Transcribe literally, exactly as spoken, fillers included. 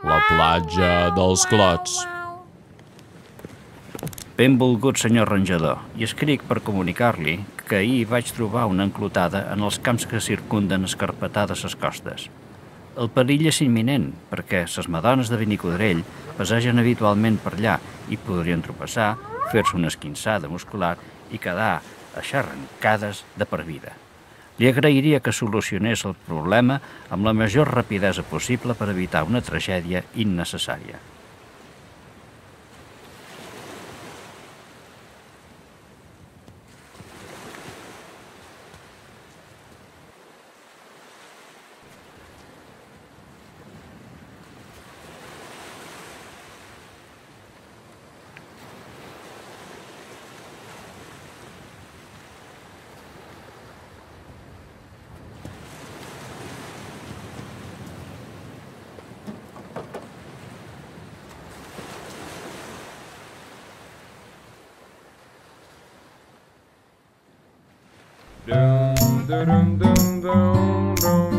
La platja dels Clots. Benvolgut senyor ranjador, i escric per comunicar-li que ahir vaig trobar una enclotada en els camps que circunden escarpetades les costes. El perill és imminent, perquè les madones de Benicodrell passegen habitualment per allà i podrien tropeçar, fer-se una esquinçada muscular i quedar aixarrancades de per vida. Li agrairia que solucionés el problema amb la major rapidesa possible per evitar una tragèdia innecessària. Dum dum dum dum dum.